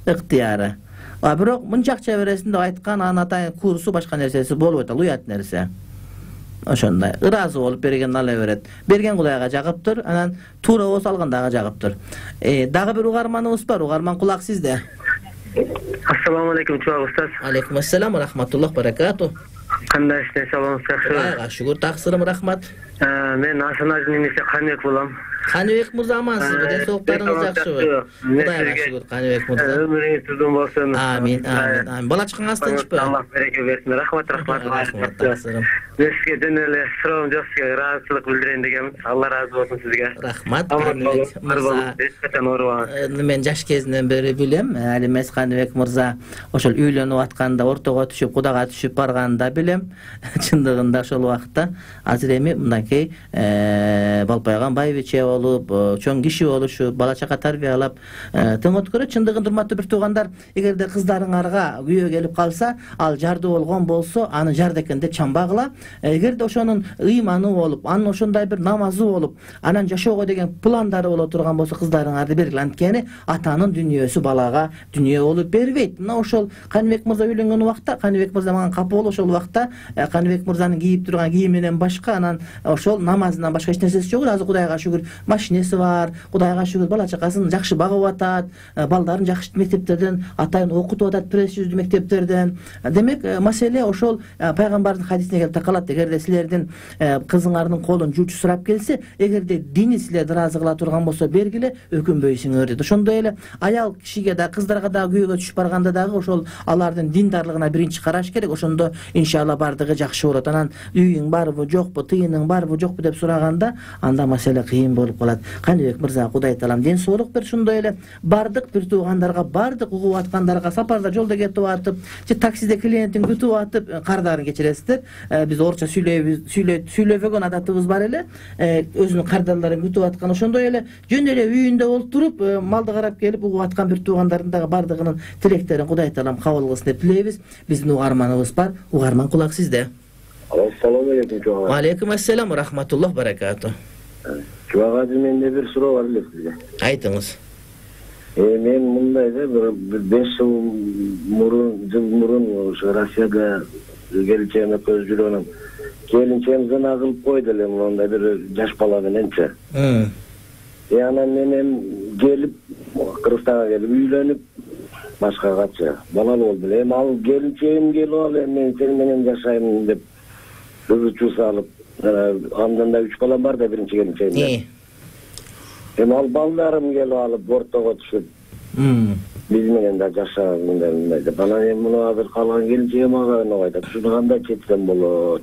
ыктыяры. А бирок мынча акча бересиң деп айткан, анын атайын курсу башка нерсеси болбойт, ал уят нерсе. Ошондой ыраазы болуп берген ала берет. Берген Кудайга жагыптыр, анан туура болсо алган дагы жагыптыр. Дагы бир угарманыбыз бар. Угарман, кулак сизде. Ассаламу алейкум, чубак устаз. Алейкум ассалам ва рахматуллах баракату. Кандай иштер, саламыңыз жакшыбы? Шүгүр, таксырым, рахмат. Мен Ашанаждын немеси Каныбек болом. Каныбек мырза, амансызбы? Ден соолуктарыңыз жакшыбы? Кудайга шүгүр, Каныбек мырза. Өмүрүңүз uzun болсун. Амин. Бала чакаңыз тынчпы? Аллах береке берсин. Рахмат. Таксырым. Мен сизге жөн эле суроом жок, сизге ыраазычылык билдирейин дегенмин. Алла ыраазы болсун сизге. Рахмат, Каныбек мырза. Мен жаш кезинен бери билем, ал эмес Каныбек мырза ошол үйлөнүп атканда, ортого түшүп, Кудайга түшүп барганда билем. Чындыгында ошол убакта азыр эми мындайкей Балпайган байбиче болуп, чоң киши болушуп, бала чака тарбиялап тең өткөрөт. Чындыгында урматтуу бир туугандар, эгерде кыздарыңарга күйөө келип калса, ал жарды болгон болсо, аны жарды экен деп чамбагыла. Эгерде ошонун ыйманы болуп, анын ошондой бир намазы болуп, анан жашоого деген пландары боло турган болсо, кыздарыңарды бергиле. Анткени атанын дүйнөсү балага дүйнө болуп бербейт. Мына ошол Каныбек мырза үйлөнгөн убакта, Каныбек мырза мага капы болуп, ошол убакта Каныбек мырзанын кийип турган кийиминен башка, анан ошол намазынан башка эч нерсеси жок. Азыр Кудайга шүгүр, машинеси бар, Кудайга шүгүр, бала чакасын жакшы багып атат, балдарын жакшы мектептерден атайын окутуп атат, престиждүү мектептерден. Демек, маселе ошол пайгамбардын хадисине келип такалат. Эгерде силердин кызыңардын колун жуучу сурап келсе, эгерде дини силерди ыраазы кыла турган болсо, бергиле, өкүнбөйсүңөр дейт. Ошондой эле аял кишиге да, кыздарга да күйөөгө түшүп барганда дагы ошол алардын диндарлыгына биринчи караш керек. Ошондо иншалла бардыгы жакшы болот. Анан үйүң барбы, жокпу, тыйының барбы, жокпу деп сураганда, анда маселе кыйын болуп калат. Каныбек мырза, Кудай таалам ден соолук берсин. Ошондой эле бардык бир туугандарга, бардык угуп аткандарга, сапарда жолдо кетип атып, же таксиде клиентин күтүп атып, кардарын кечиресиздер. Биз орусча сүйлөбөгөн адатыбыз бар эле. Өзүнүн кардарларын күтүп аткан, ошондой эле жөн эле үйүндө олтуруп, малды карап келип угуп аткан бир туугандардын дагы бардыгынын тилектерин Кудай таалам кабыл кылсын деп тилейбиз. Биздин угарманыбыз бар. Угарман, кулак сизде. Ассаламу алейкум, чубак. Алейкум ассалам ва рахматуллах баракату. Чубак азыр менде бир суроо бар эле сизге. Айтыңыз. Мен мындай да бир 5 жыл мурун ошо Россияда келинчегиме көз жүргөнүм. Келинчегим зына кылып койду эле, мындай бир жаш бала мененчи. Анан менен келип, Кыргызстанга келип үйлөнүп, башкагачы балалуу болду. Эми ал келинчегим келип алып, мен сени менен жашайм деп кызычуу салып, андан да 3 балам бар да, биринчи келинчегим. Эми ал балдарым келип алып, ортого түшүп, биз менен да жашаган мындай деп. Анан эми муну азыр калган келинчегим ага айтат. Ушуну кандай четсем болот?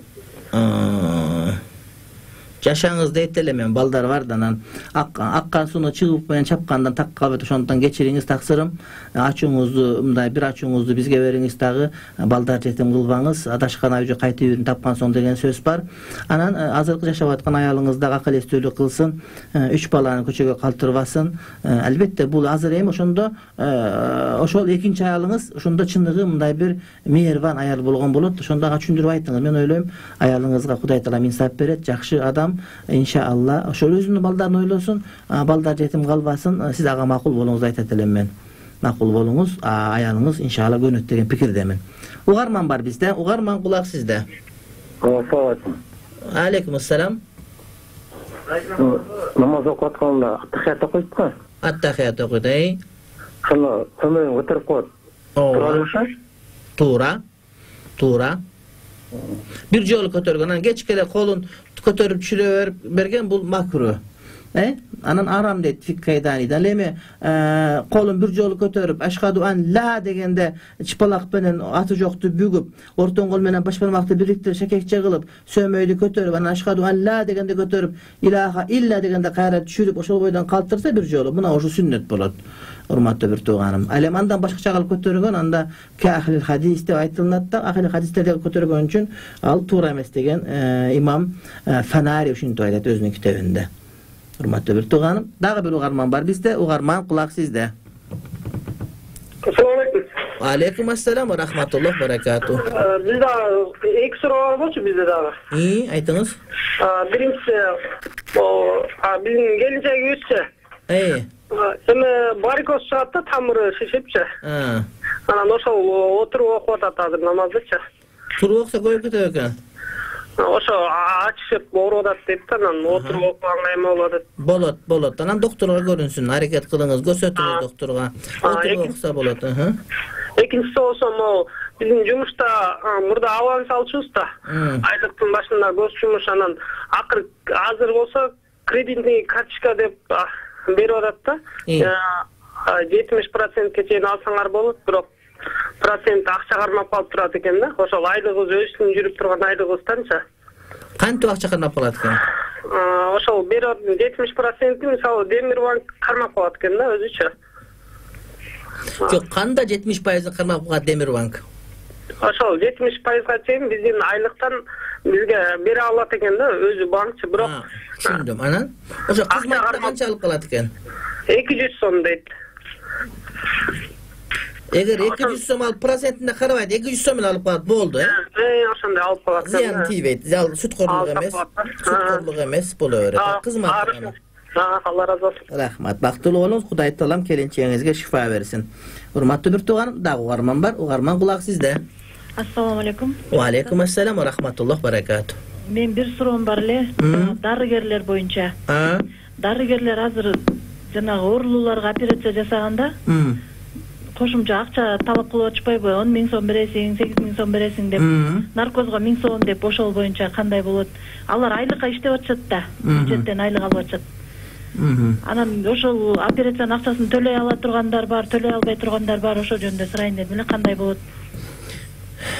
Жашаңыз дейт эле, мен балдар бар да, анан аккан сууну чыгып менен чапкандан так калбайт. Ошондон кечириңиз, таксырым. Ачууңузду, мындай бир ачууңузду бизге бериңиз дагы, балдар жетим кылбаңыз. Адашкан ай кайта үйүн тапкан соң деген сөз бар. Анан азыркы жашап аткан аялыңыз дагы акыл эстүүлүк кылсын, 3 баланы көчөгө калтырбасын. Албетте бул азыр эми ошондо ошол экинчи аялыңыз ошондо чындыгы мындай бир мээрбан аял болгон болот. Ошондо ага түшүндүрүп айтыңыз. Мен ойлойм, аялыңызга Кудай таалам инсап берет, жакшы адам. Иншалла ошол өзүнүн балдарын ойлосун, балдар жетим калбасын. Сиз ага макул болуңузду айтат элем мен. Макул болуңуз, аялыңыз иншалла көнөт деген пикирдемин. Угарман бар бизде. Угарман, кулак сизде. Assalamu alaikum. Алейкум ассалам. Намаз окуп атканда аттахият окуйт го? Аттахият окуйт, Шуну төмөн көтөрүп коет. Туура. Бир жолу көтөргөн, анан кечке колун көтөрүп чүрө берген, бул макру. Анан арам дейт фиккайданида. Эми колун бир жолу көтөрүп, ашхаду ан ла дегенде чыпалак менен аты жокту бүгүп, ортон кол менен баш бармакты бириктирип, шекекче кылып, сөмөйдү көтөрүп, анан ашхаду ан ла дегенде көтөрүп, илаха илля дегенде кайра түшүрүп, ошол бойдон калтырса бир жолу, мына ошо сүннөт болот. Урматтуу бир тууганым. Ал эми андан башкача кылып көтөргөн, анда ахли хадис деп айтылат да, ахли хадистерде көтөргөн үчүн ал туура эмес деген имам Фанари ушинтип айтат өзүнүн китебинде. Урматтуу бир тууганым, дагы бир угарман бар бизде. Угарман, кулак сизде. Assalamu alaikum. Алейкум ассалам ва рахматуллах баракату. Бизде эки суроо бар болчу бизде дагы. Айтыңыз. Биринчиси, биздин келинчегибизчи. Эми барикоз чыгат да, тамыры шишипчи. Анан ошол отуруп окуп атат азыр намаздычы. Туруп окуса көбөйүп кетет экен. Ошо ачышып ооруп атат дейт да, анан отуруп окуганга эме болуп атат. Болот. Анан доктурга көрүнсүн, аракет кылыңыз, көрсөтүңүз доктурга. Отуруп окуса болот. Экинчиси болсо, могу биздин жумушта мурда аванс алчубуз да. Айлыктын башында көз жумуш, анан азыр болсо кредитный карточка деп берип атат да. 70%ке чейин алсаңар болот, бирок процент акча кармап калып турат экен да. Ошол айлыгыбыз өзүнүн жүрүп турган айлыгыбызданчы. Кантип акча кармап калат экен? Ошол берип 70% мисалы Демирбанк кармап калат экен да өзүчө. Жок, канда 70% кармап калат Демирбанк? Ошол 70%га чейин биздин айлыктан бизге бере алат экен да, өзү банкчы, бирок түшүндүм. Анан ошо кызматта канча алып калат экен? 200 сом дейт. Эгер 200 сом алып процентине карабайт, 200 сом менен алып калат болду, ошондой алып калат. Зыян тийбейт. Сүткөрлүк эмес боло берет. Кызмат. Алла разы болсун. Рахмат. Бактылуу болуңуз. Кудай таалам келинчегиңизге шифа берсин. Урматтуу бир тууганым, дагы угарман бар. Угарман, кулак сизде. Ассаламу алейкум. Ва алейкум ассалам ва рахматуллах баракату. Мен бир суроом бар эле, дарыгерлер боюнча. Дарыгерлер азыр жанагы оорулууларга операция жасаганда кошумча акча талап кылып атышпайбы? 10 000 сом бересиң, 8 000 сом бересиң деп. Наркозго 1000 сом деп, ошол боюнча кандай болот? Алар айлыкка иштеп атышат да, бюджеттен айлык алып атышат. Анан ошол операциянын акчасын төлөй ала тургандар бар, төлөй албай тургандар бар, ошол жөнүндө сурайын дедим эле, кандай болот?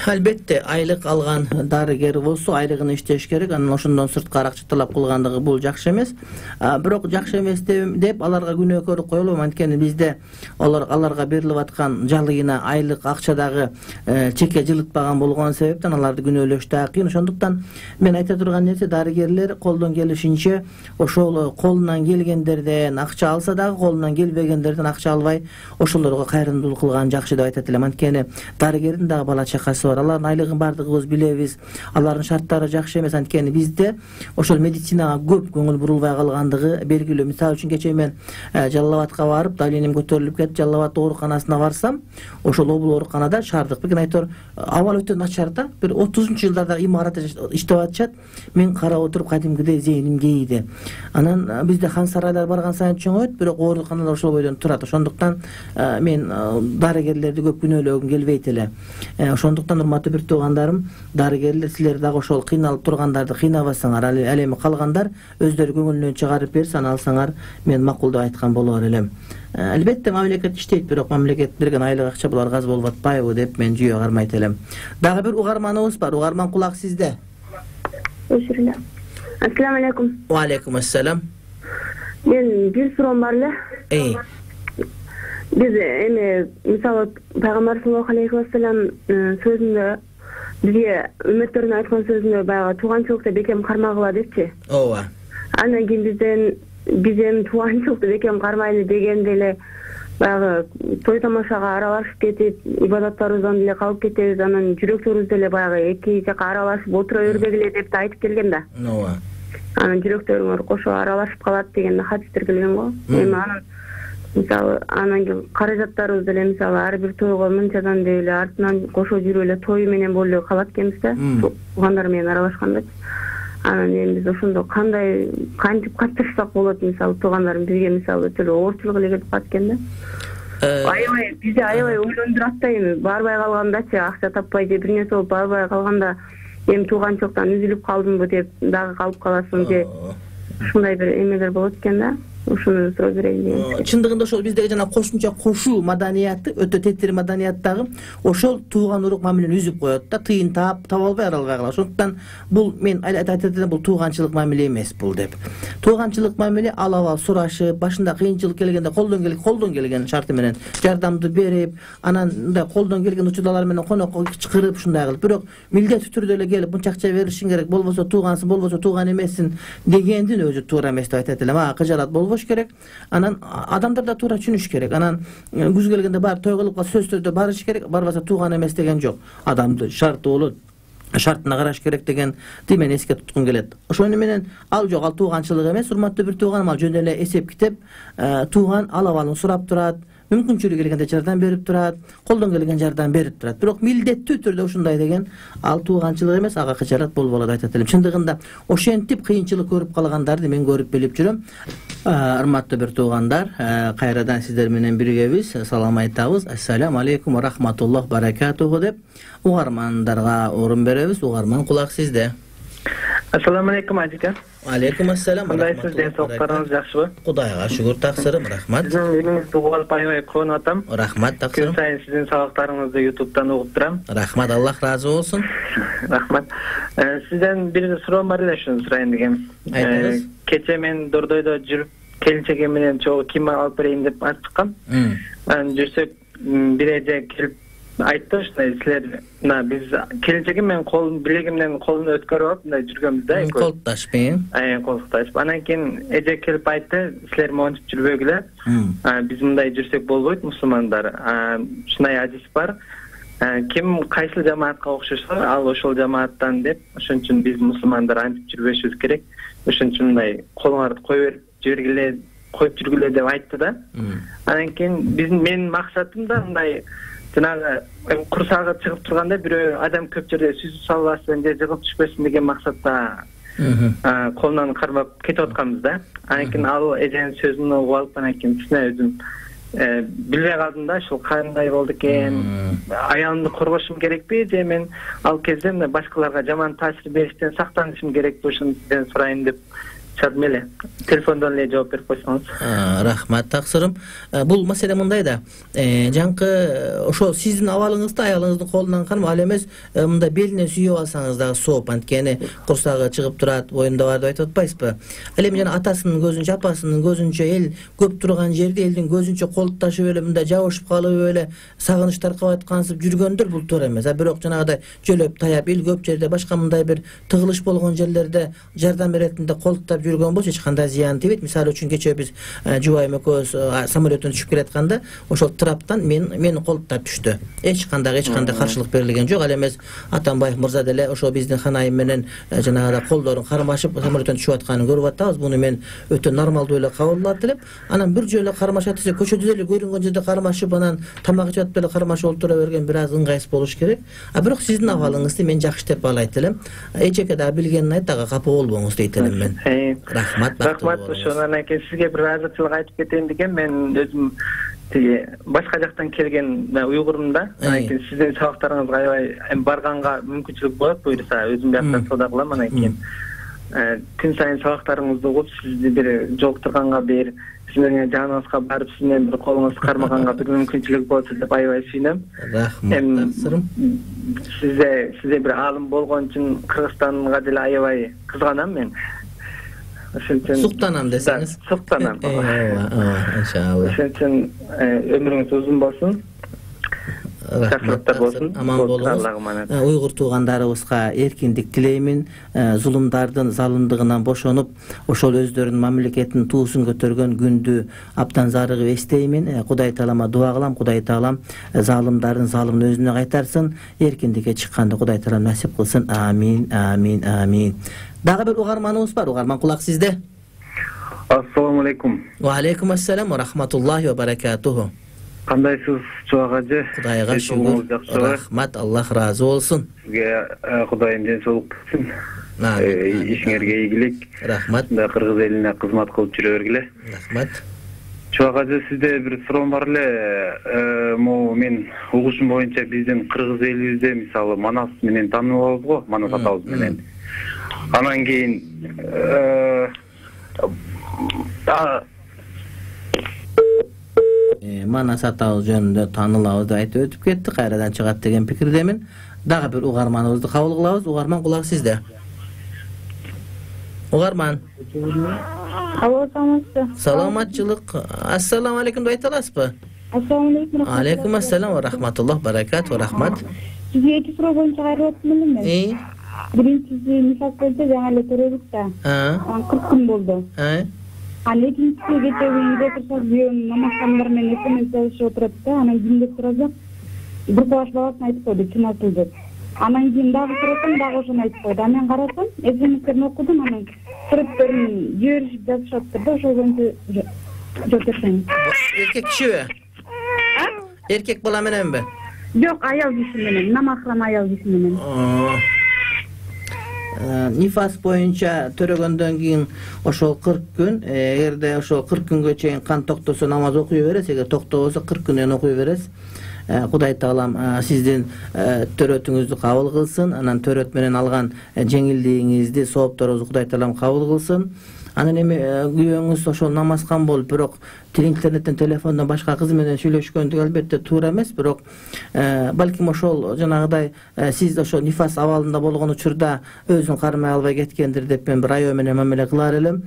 Албетте, айлык алган дарыгер болсо айлыгын иштеш керек, анан ошондон сырткары акча талап кылгандыгы бул жакшы эмес. Бирок жакшы эмес деп аларга күнөөкөрүк коелуп, анткени бизде аларга берилип аткан жалыйына айлык акчадагы чекке жылытпаган болгон себептен аларды күнөөлөш да кыйын. Ошондуктан мен айта турган нерсе, дарыгерлер колдон келишинче ошол колунан келгендерден акча алса дагы, колунан келбегендерден акча албай, ошолорго кайрымдуулук кылган жакшы деп айтат элем. Анткени дарыгердин дагы бала чакасы бар. Алардын айлыгын бардыгыбыз билебиз. Алардын шарттары жакшы эмес, анткени бизде ошол медицинага көп көңүл бурулбай калгандыгы белгилүү. Мисалы үчүн кечээ мен Жалал Абадка барып, давлением көтөрүлүп кетип, Жалал Абад ооруканасына барсам, ошол облуу ооруканада шаардык бир айтор абал өтө начар да. Бир 30-жылдарда имарат иштеп атышат. Мен карап отуруп кадимгидей зээним кейиди. Анан бизде хан сарайлар барган сайын чоңойот, бирок ооруканалар ошол бойдон турат. Ошондуктан мен дарыгерлерди көп күнөөлөгүм келбейт эле. Ошондуктан урматтуу бир туугандарым, дарыгерлер, силер дагы ошол кыйналып тургандарды кыйнабасаңар, ал эми калгандар өздөрү көңүлүнөн чыгарып берсе, аны алсаңар, мен макул деп айткан болор элем. Албетте мамлекет иштейт, бирок мамлекет берген айлык акча буларга аз болуп атпайбы деп мен жүйө кармайт элем. Дагы бир угарманыбыз бар. Угарман, кулак сизде. Ассаламу алейкум. Ва алейкум ассалам. Мен бир суроом бар эле. Биз эми мисалы пайгамбар саллаллаху алейхи вассалам сөзүндө бизге үммөттөрүнө айткан сөзүндө баягы тууганчылыкты бекем кармагыла депчи. Ооба. Андан кийин биз эми тууганчылыкты бекем кармайлы дегенде эле баягы той тамашага аралашып кетип, ибадаттарыбыздан деле калып кетебиз, анан жүрөктөрүбүз деле баягы эки жака аралашып отура бербегиле деп айтып келген да. Ооба. Анан жүрөктөрүңөр кошо аралашып калат деген хадистер келген го. Эми анан мисалы анан кийин каражаттарыбыз деле мисалы ар бир тойго мынчадан деп эле артынан кошо жүрүп эле той менен болуп эле калат экенбиз да, туугандар менен аралашкандачы. Анан эми биз ошондо кандай кантип катташсак болот, мисалы туугандарым бизге мисалы өтө эле оорчулук эле келип калат экен да. Аябай бизди аябай ойлондурат да, эми барбай калгандачы, акча таппай же бир нерсе болуп барбай калганда эми тууганчылыктан үзүлүп калдымбы деп дагы калып каласың же ушундай бир эмелер болот экен да. Ушуну суроо берейин деген. Чындыгында ошол биздеги жана кошумча кошуу маданияты, өтө тетир маданияттагы ошол тууган урук мамилени үзүп коет да, тыйын таба албай аралбай калат. Ошондуктан бул мен айтат элем, бул тууганчылык мамиле эмес бул деп. Тууганчылык мамиле алабал сурашып, башында кыйынчылык келгенде колдон келген шарты менен жардамды берип, анан мындай колдон келген учурлар менен конокко чакырып ушундай кылып, бирок милдеттүү түрдө эле келип мынча акча беришиң керек, болбосо туугансың, болбосо тууган эмессиң дегендин өзү туура эмес деп айтат элем. Кыжалат болбойт, болуш керек. Анан адамдар да туура түшүнүш керек. Анан күз келгенде барып той кылып сөздөрдө барыш керек. Барбаса тууган эмес деген жок. Адамды шарты болот. Шартына караш керек деген мен эске туткум келет. Ошону менен ал жок, ал тууганчылык эмес, урматтуу бир тууганым, ал жөн эле эсеп китеп, тууган ал абалын сурап турат, мүмкүнчүлүгү келгенде жардам берип турат, колдон келген жардам берип турат. Бирок милдеттүү түрдө ушундай деген ал тууганчылык эмес, ага кычарат болболот деп айтат элем. Чындыгында ошентип кыйынчылык көрүп калгандарды мен көрүп билип жүрөм. Урматтуу бир туугандар, кайрадан сиздер менен биргебиз. Салам айтабыз. Ассаламу алейкум ва рахматуллах баракатуху деп угармандарга орун беребиз. Угарман, кулак сизде. Ассаламу алейкум ажыка. Алейкум ассалам. Кандайсыз, ден соолуктарыңыз жакшыбы? Кудайга шүгүр, таксырым, рахмат. Сиздин үйүңүздү угуп аябай кубанып атам. Рахмат, таксырым. Күн сайын сиздин сабактарыңызды YouTube'дан угуп турам. Рахмат, Аллах разы болсун. Рахмат. Сизден бир суроом бар эле, ушуну сурайын дегем. Айтыңыз. Кече мен Дордойдо жүрүп, келинчегим менен чогуу кийим алып берейин деп алып чыккам. Анан жүрсөк бир эже келип айтты, ушундай силер биз келинчегим менен билегимден колун өткөрүп алып мындай жүргөнбүз да. Колташпайбы? Колташпайбы. Анан кийин эже келип айтты, силер монтип жүрбөгүлө. Биз мындай жүрсөк болбойт, мусулмандар. Ушундай адис бар. Ким кайсыл жамаатка окшошсо, ал ошол жамааттан деп, ошон үчүн биз мусулмандар антип жүрбөшүбүз керек. Ошон үчүн мындай колуңарды коюп берип коюп жүргүлө деп айтты да. Анан кийин менин максатым да мындай жанагы курсагы чыгып турганда бирөө адам көп жерде сүзүп салбасын же жыгып түшпөсүн деген максатта колунан кармап кетип атканбыз да. Анан кийин ал эженин сөзүн угуп алып, анан кийин чын өзүм билбей калдым да, ушул кандай болду экен, аялымды коргошум керекпи же мен ал кезде мына башкаларга жаман таасир бериштен сактанышым керекпи, ушуну сизден сурайын деп чыгдым эле. Телефондон эле жооп берип койсоңуз. Рахмат, таксырым. Бул маселе мындай да. Жаңкы ошо сиздин абалыңызды аялыңыздын колунан кармап, ал эмес мындай белинен сүйүп алсаңыз дагы сооп, анткени курсагы чыгып турат, боюнда бар деп айтып атпайсызбы? Ал эми жана атасынын көзүнчө, апасынын көзүнчө, эл көп турган жерде элдин көзүнчө колташып эле мындай жабышып калып эле сагыныч таркап аткансып жүргөндөр бул туура эмес. Бирок жанагыдай жөлөп таяп, эл көп жерде, башка мындай бир тыгылыш болгон жерлерде жардам беретинде колтоп жүргөн болсо эч кандай зыян тийбейт. Мисалы үчүн кечээ биз жубайым экөөбүз самолеттон түшүп келатканда ошол траптан мени колтоп түштү. Эч кандай каршылык берилген жок. Ал эмес Атамбаев мырза деле ошо биздин ханайым менен жанагыда колдорун кармашып самолеттон түшүп атканын көрүп атабыз. Муну мен өтө нормалдуу эле кабылдап элем. Анан бир жолу кармашат десе, көчөдө эле көрүнгөн жерде кармашып, анан тамак ичип атып эле кармашып олтура берген бир аз ыңгайсыз болуш керек. Бирок сиздин абалыңызды мен жакшы деп баалайт элем. Эжеке дагы билгенин айт, дагы капа болбоңуз дейт элем мен. Рахмат. Ошонан кийин сизге бир азырчылык айтып кетейин дегем. Мен өзүм тиги башка жактан келген уйгурмун да. Анан кийин сиздин сабактарыңызга аябай барганга мүмкүнчүлүк болот, буюрса өзүм бияктан соода кылам. Анан кийин күн сайын сабактарыңызды угуп, сизди бир жолуктурганга, бир сиздерге жаныңызга барып, сиз менен бир колуңузду кармаганга бир мүмкүнчүлүк болсо деп аябай сүйүнөм. Рахмат. Сизде бир аалым болгон үчүн Кыргызстанга деле аябай кызганам мен. Суктанам десеңиз. Суктанам. Иншалла. Ошон үчүн өмүрүңүз узун болсун. Аман болуңуз. Уйгур туугандарыбызга эркиндик тилеймин. Зулумдардын залымдыгынан бошонуп, ошол өздөрүнүн мамлекетинин туусун көтөргөн күндү абдан зарыгып эстеймин. Кудай таалама дуа кылам, Кудай таалам залымдардын залымын өзүнө кайтарсын, эркиндикке чыкканды Кудай таалам насип кылсын. Амин, амин, амин. Дагы бир угарманыбыз бар. Угарман, кулак сизде. Ассаламу алейкум. Ва алейкум ассалам ва рахматуллахи ва баракатуху. Кандайсыз, Чубак ажы? Кудайга шүгүр. Рахмат, Аллах разы болсун. Сизге Кудайым ден соолук берсин. Ишиңерге ийгилик. Рахмат. Кыргыз элине кызмат кылып жүрө бергиле. Рахмат. Чубак ажы, сизде бир суроом бар эле. Могу мен угушум боюнча биздин кыргыз элибизде мисалы Манас менен таанылабыз го, Манас атабыз менен. Анан кийин Манас атабыз жөнүндө таанылабыз деп айтып өтүп кетти. Кайрадан чыгат деген пикирдемин. Дагы бир угарманыбызды кабыл кылабыз. Угарман, кулак сизде. Угарман. Алло, саламатсызбы? Саламатчылык. Ассаламу алейкум деп айта аласызбы? Ассаламу алейкум. Алейкум ассалам ва рахматуллах баракату. Рахмат. Сизге эки суроо боюнча кайрылып атам эле мен. Биринчиси, мисал көздөй жаңы эле төрөлүк да. 40 күн болду. Анан экинчиси кечээ үйдө турсак күйөөм намазхандар менен смс жазышып отурат да, анан кимдеп турасак бир класс баласына айтып койду чынатыл деп. Анан кийин дагы сурасам дагы ошону айтып койду. Анан мен карасам смстерин окудум, анан сүрөттөрүн жиберишип жазышаптыр да, ошол боюнча жооп берсең. Эркек кишиби? Эркек бала мененби? Жок, аял киши менен, намахрам аял киши менен. Нифас боюнча төрөгөндөн кийин ошол 40 күн, эгерде ошол 40 күнгө чейин кан токтосо намаз окуй бересиз, эгер токтобосо 40 күндөн окуй бересиз. Кудай таалам сиздин төрөтүңүздү кабыл кылсын, анан төрөт менен алган жеңилдигиңизди, соопторуңузду Кудай таалам кабыл кылсын. Анан эми күйөөңүз ошол намазхан болуп, бирок интернеттен, телефондон башка кыз менен сүйлөшкөндүгү албетте туура эмес, бирок балким ошол жанагыдай сиз ошол нифас абалында болгон учурда өзүн кармай албай кеткендир деп мен бир аябай менен мамиле кылар элем.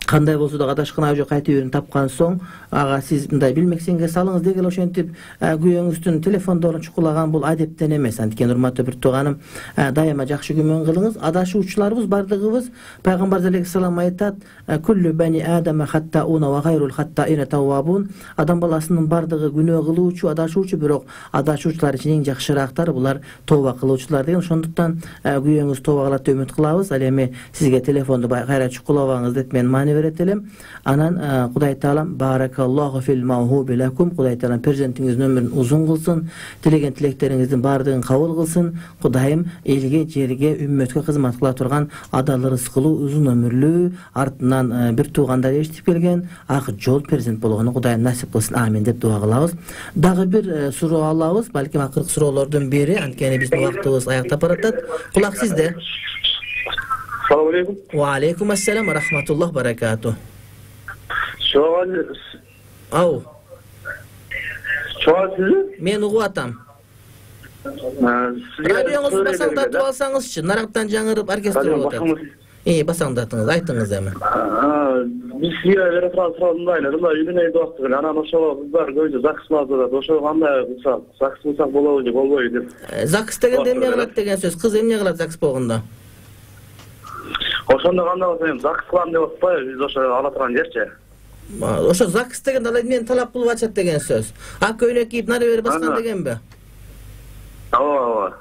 Кандай болсо да адашкан ай жок кайтып жерин тапкан соң, ага сиз мындай билмексеңге салыңыз дегел ошентип күйөөңүздүн телефондорун чукулаган бул адептен эмес. Анткени урматтуу бир тууганым, дайыма жакшы күмөн кылыңыз. Адашуучуларыбыз бардыгыбыз пайгамбар алейхиссалам айтат: "Куллу бани адама хаттауна ва гайрул хаттаина таввабун." Адам баласынын бардыгы күнөө кылуучу, адашуучу, бирок адашуучулар ичинен эң жакшыраактары булар тооба кылуучулар деген. Ошондуктан күйөөңүз тооба кылат деп үмүт кылабыз. Ал эми сизге телефонду кайра чукулабаңыз деп мен маани берет элем. Анан Кудай таалам баракаллаху фил мавхуби лакум, Кудай таалам перзентиңиздин өмүрүн узун кылсын, тилеген тилектериңиздин баардыгын кабыл кылсын. Кудайым элге, жерге, үммөткө кызмат кыла турган адал рызкылуу, узун өмүрлүү, артынан бир туугандар эшитип келген ак жол перзент болгону Кудайым насип кылсын. Амин деп дуа кылабыз. Дагы бир суроо алабыз, балким акыркы суроолордун бири, анткени биздин убактыбыз аяктап баратат. Кулак сизде. Assalamu alaikum. Wa alaikum assalam wa rahmatullah barakatuh. Ау. Мен угуп атам. Радионуңузду басаңдатып алсаңызчы, нарактан жаңырып оркестр болуп атат. Басаңдатыңыз, айтыңыз эми. Биз сизге бере турган мындай үйдүн убакыты менен анан ошол кыздар көбүнчө ЗАГС атат. Ошо кандай кылсак, ЗАГС кылсак болобу же болбойбу деп. ЗАГС дегенде эмне кылат деген сөз? Кыз эмне кылат ЗАГС болгондо? Ошондо кандай болсо эми ЗАГС кылам деп атпайбы, биз ошо ала турган жерчи. Ошо ЗАГС деген ал эмнени талап кылып ачат деген сөз. Ак көйнөк кийип нары бери баскан дегенби? Ооба.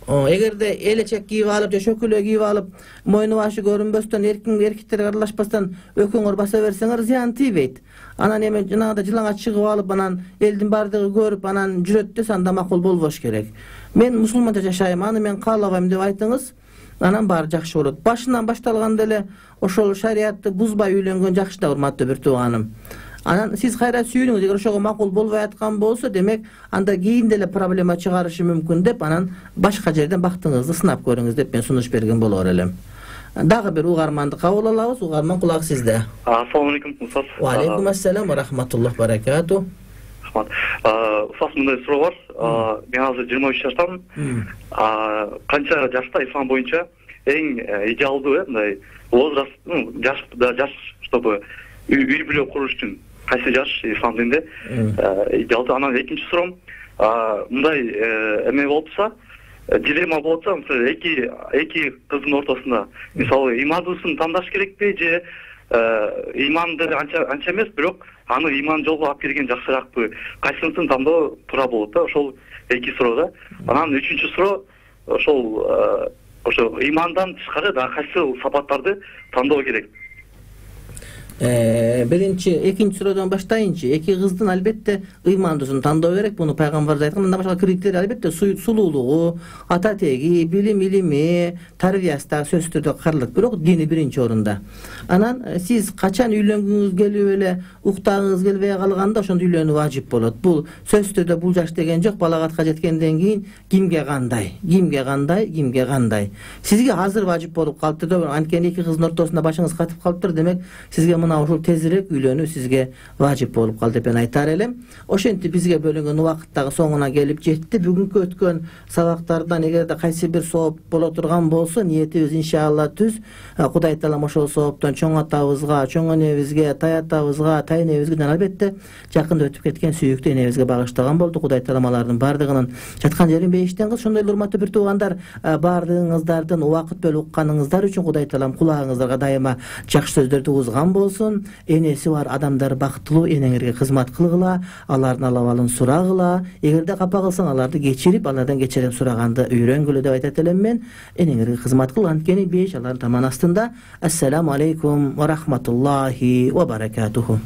Эгерде элечек кийип алып же шөкөлө кийип алып, мойну башы көрүнбөстөн, эркектерге аралашпастан өкөңөр баса берсеңер зыян тийбейт. Анан эми жанагыда жылаңа чыгып алып, анан элдин бардыгы көрүп, анан жүрөт десе анда макул болбош керек. Мен мусулманча жашайм, аны мен каалабайм деп айтыңыз. Анан баары жакшы болот. Башынан башталганда эле ошол шариатты бузбай үйлөнгөн жакшы да, урматтуу бир тууганым. Анан сиз кайра сүйүнүңүз, эгер ошого макул болбой аткан болсо, демек анда кийин деле проблема чыгарышы мүмкүн деп, анан башка жерден бактыңызды сынап көрүңүз деп мен сунуш берген болор элем. Дагы бир угарманды кабыл алабыз. Угарман, кулак сизде. Ассаламу алейкум, Устаз. Ва алейкум ассалам ва рахматуллах баракату. Устаз, мындай суроо бар. Мен азыр 23 жаштамын. Канча жашта ислам боюнча эң идеалдуу мындай возраст, жаш, чтобы үй бүлө куруш үчүн кайсы жаш ислам дининде идеалдуу? Анан экинчи суроом, мындай эме болупса, дилемма болупса, мисалы эки кыздын ортосунда, мисалы имандуусын тандаш керекпи же иманды анча эмес, бирок аны иман жолго алып келген жакшыраакпы? Кайсынысын тандоо туура болот да? Ошол эки суроо да. Анан үчүнчү суроо, ошо имандан тышкары да кайсы сапаттарды тандоо керек? Биринчи, экинчи суроодон баштайынчы. Эки кыздын албетте ыймандуусун тандоо керек. Муну пайгамбарыбыз айткан. Мындан башка критерий албетте сулуулугу, ата теги, илими, тарбиясы да сөзсүз түрдө каралат. Бирок дини биринчи орунда. Анан сиз качан үйлөнгүңүз келип эле уктагыңыз келбей калганда ошондо үйлөнүү важип болот. Бул сөзсүз түрдө бул жаш деген жок. Балагатка жеткенден кийин кимге кандай? Сизге азыр важип болуп калыптыр да. Анткени эки кыздын ортосунда башыңыз катып калыптыр, демек сизге мына ушул тезирээк үйлөнүү сизге важип болуп калды деп мен айтар элем. Ошентип бизге бөлүнгөн убакыт дагы соңуна келип жетти. Бүгүнкү өткөн сабактардан эгерде кайсы бир сооп боло турган болсо, ниетибиз иншалла түз. Кудай таалам ошол сооптон чоң атабызга, чоң энебизге, тай атабызга, тай энебизге, жана албетте жакында өтүп кеткен сүйүктүү энебизге багыштаган болду. Кудай таалам алардын баардыгынын жаткан жерин бейиштен кылсын. Ошондой эле урматтуу бир туугандар, баардыгыңыздардын убакыт бөлүп укканыңыздар үчүн Кудай таалам кулагыңыздарга дайыма жакшы сөздөрдү узган болсун. болсун. Энеси бар адамдар бактылуу энеңерге кызмат кылгыла, алардын алабалын сурагыла. Эгерде капа кылсаң, аларды кечирип, алардан кечирим сураганды үйрөнгүлө деп айтат элем мен. Энеңерге кызмат кыл, анткени беш алар таман астында. Ассаламу алейкум ва рахматуллахи ва баракатуху.